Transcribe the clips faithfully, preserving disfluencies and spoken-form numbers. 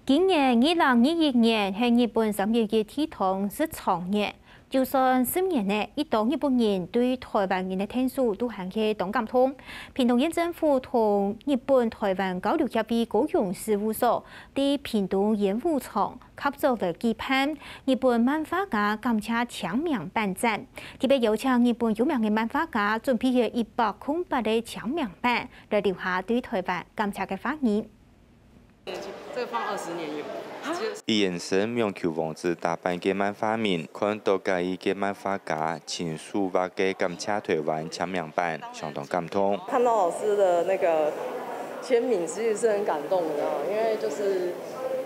今年二零二一年係日本三一一地動十週年，就算十年了，已多日本人對臺灣人个𢯭手都還係當感動。屏東縣政府同日本臺灣交流協會高雄事務所在屏東演武場合作來舉辦日本漫畫家感謝簽名版展，特別邀請日本有名个漫畫家準備了一百空八个簽名版，來留下對臺灣感謝个話語。 這個放二十年有。一眼神網球王子打扮个漫畫迷，看到嘉義个漫畫家親手畫个感謝臺灣簽名版，相當感動。看到老師的那個簽名，其實是很感動的啊，因為就是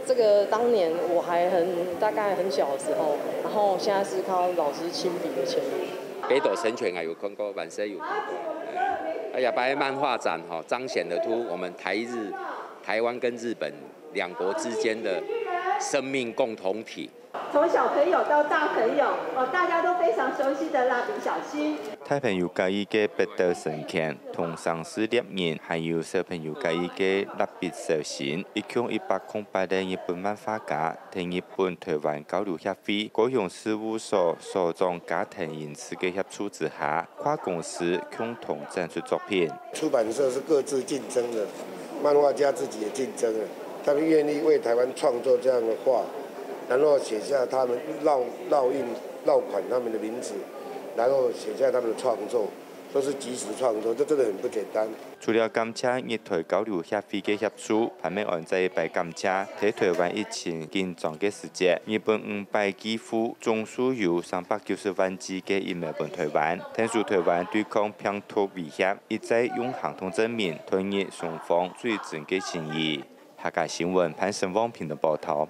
這個當年我還很，大概很小的時候，然後現在是看到老師親筆的簽名。北斗神拳啊，有看過，萬歲有看過。哎，啊，這擺漫畫展吼，彰顯得出我們台日、台灣跟日本兩國之間的生命共同體。從小朋友到大朋友，哦，大家都非常熟悉的蠟筆小新。大朋友嘉義个北斗神拳同城市獵人，還有小朋友嘉義个蠟筆小新，一共一百空八个日本漫畫家，同日本臺灣交流協會高雄事務所所長加藤英次个協助之下，跨公司共同展出作品。出版社是各自競爭的，漫畫家自己也競爭了，他們願意為臺灣創作這樣的畫，然後寫下他們烙，烙印、烙款他們的名字，然後寫下他們的創作，都是即時創作，這真的很不簡單。除了感謝日臺交流協會个協助，潘美安再一擺感謝在臺灣疫情緊張个時節，日本五擺寄付總數有三百九十萬支个疫苗分臺灣，𢯭手臺灣對抗病毒威脅，一再用行動證明台日雙方最真个心意。客家新聞潘成旺屏東報導。